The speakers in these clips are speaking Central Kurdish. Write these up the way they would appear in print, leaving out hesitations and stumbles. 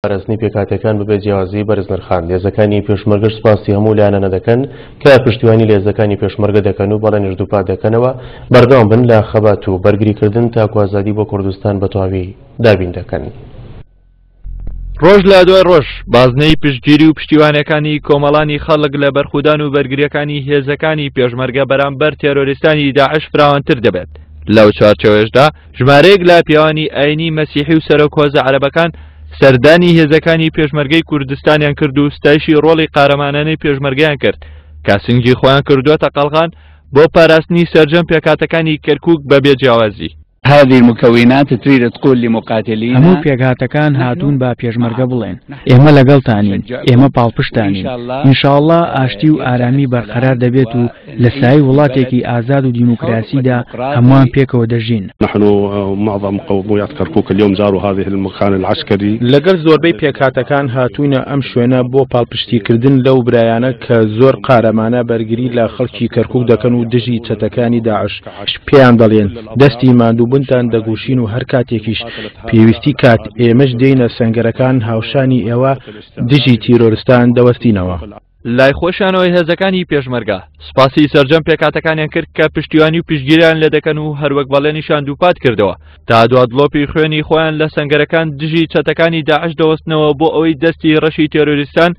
پاراستنی پێکهاتەکان بەبێ جیاوازی بەرز نرخاند. هێزەکانی پێشمەرگەش سوپاسی هەموو لایەنانە دەکەن کە پشتیوانی لە هێزەکانی پێشمەرگە دەکەن و بەڵێنیش دووپات دەکەنەوە بەردەوام بن لە خەبات و بەرگریکردن تاکو ئازادی بۆ کوردستان بە تەواوی دابین دەکەن. ڕۆژ لە دوای ڕۆژ بازنەی پشتگیری و پشتیوانەکانی کۆمەڵانی خەڵک لە بەرخودان و بەرگریەکانی هێزەکانی پێشمەرگە بەرامبەر تێرۆریستانی داعش فراوانتر دەبێت. لەو چوارچێوەیەشدا ژمارەیەک لە پیاوانی ئاینی مەسیحی و سەرۆک هۆزە عەرەبەکان سەردانی هێزەکانی پێشمەرگەی کوردستانیان کرد و ستایشی ڕۆڵی قارەمانانەی پێشمەرگەیان کرد کە سنگی خۆیان کردووەتە قەڵغان بۆ پاراستنی سەرجەم پێکهاتەکانی کەرکوک بە بێ جیاوازی. هذه المكونات تريد تقول لمقاتلينا هەموو پێکهاتەکان هاتوون با پێشمەرگە بڵێن ئێمە لەگەڵتانین، ئێمە پاڵپشتانین، ان شاء اللە ئاشتی و ئارامی بەرقەرار دەبێت و لە سایەی وڵاتێکی ئازاد و دیموکراسیدا هەمووان پێکەوە دەژین. نحن معظم قوميات كركوك اليوم زاروا هذه المكان العسكري. لەگەڵ زۆربەی پێکهاتەکان هاتووینە ئەم شوێنە بۆ پاڵپشتیکردن لەو برایانە کە زۆر قارەمانە بەرگری لە خەڵکی کەرکوک دەکەن و دژی چەتەکانی داعش پێیان دەڵێن دەستی ماندووبونتان دەگوشین و هەر کاتێکیش پێویستی کات ئێمەش دێینە سەنگەرەکان هاوشانی ئێوە دژی تیرۆرستان دەوەستینەوە. لای خۆشیانەوە هێزەکانی پێشمەرگە سوپاسی سەرجەم پێکهاتەکانیان کرد کە پشتیوانی و پشتگیریان لێدەکەن و هەروەک بەڵێنیشان دووپات کردەوە تا دوا دڵۆپی خوێنی خۆیان لە سەنگەرەکان دژی چەتەکانی داعش دەوەستنەوە بۆ ئەوەی دەستی ڕەشی تێرۆریستان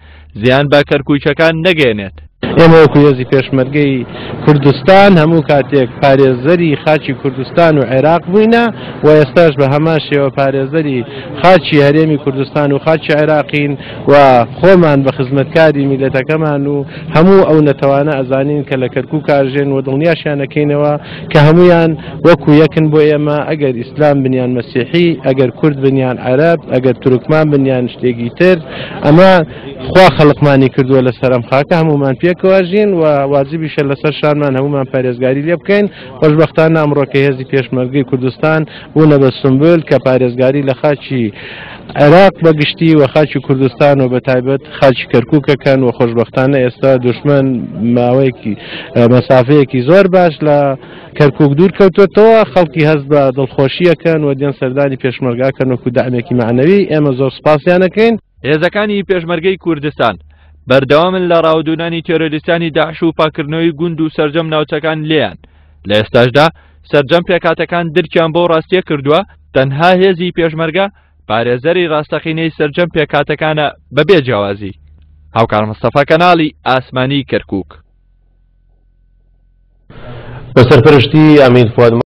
زیان بە کەرکووکەکان نەگەیەنێت. ئێمە وەکو هێزی پێشمەرگەی کوردستان هەموو کاتێک پارێزەری خاکی کوردستان و عێراق بووینە و ئێستاش بە هەمان شێوە پارێزەری خاکی هەرێمی کوردستان و خاکی عێراقین و خۆمان بە خزمەتکاری میلەتەکەمان و هەموو ئەو نەتەوانە ئەزانین کە لە کەرکوک ئاژێن و دڵنیاشیان ئەکەینەوە کە هەموویان وەکو یەکن بۆ ئێمە ئەگەر ئیسلام بن یان مەسیحی ئەگەر کورد بن یان عەرەب ئەگەر تورکمان بن یان شتێکی تر ئەمە خوا خەڵقمانی کردووە لەسەر ئەم خاکە هەموومان پێکەوە ژین و واجبیشە لەسەر شانمان هەموومان پارێزگاری لێ بکەین خۆشبەختانە ئەمڕۆ کە هێزی پێشمەرگەی کوردستان بوونە بە سمبول کە پارێزگاری لە خاکی عێراق بە گشتی و خاکی کوردستان و بە تایبەت خاکی کەرکووکەکەن و خۆشبەختانە ئێستا دوشمن ماوەیەکی مەسافەیەکی زۆر باش لە کەرکووک دوور کەوتوێتەوە خەڵکی هەست بە دڵخۆشیەکەن و دێن سەردانی پێشمەرگاکەن وەکو دەعمێکی مەعنەوی ئێمە زۆر سوپاسیانەکەین. هێزەکانی پێشمەرگەی کوردستان بەردەوامن لە ڕاودوونانی تێرۆریستانی داعش و پاکردنەوەی گوند و سەرجەم ناوچەکان لێیان لە ئێستاشدا سەرجەم پێکهاتەکان درکیان بەو ڕاستیە کردووە تەنها هێزی پێشمەرگە پارێزەری ڕاستەقینەی سەرجەم پێکهاتەکانە بەبێ جیاوازی. هاوکار مستەفا کەناڵی ئاسمانی کەرکوک. بە سەرپەرشتی ئەمین فواد.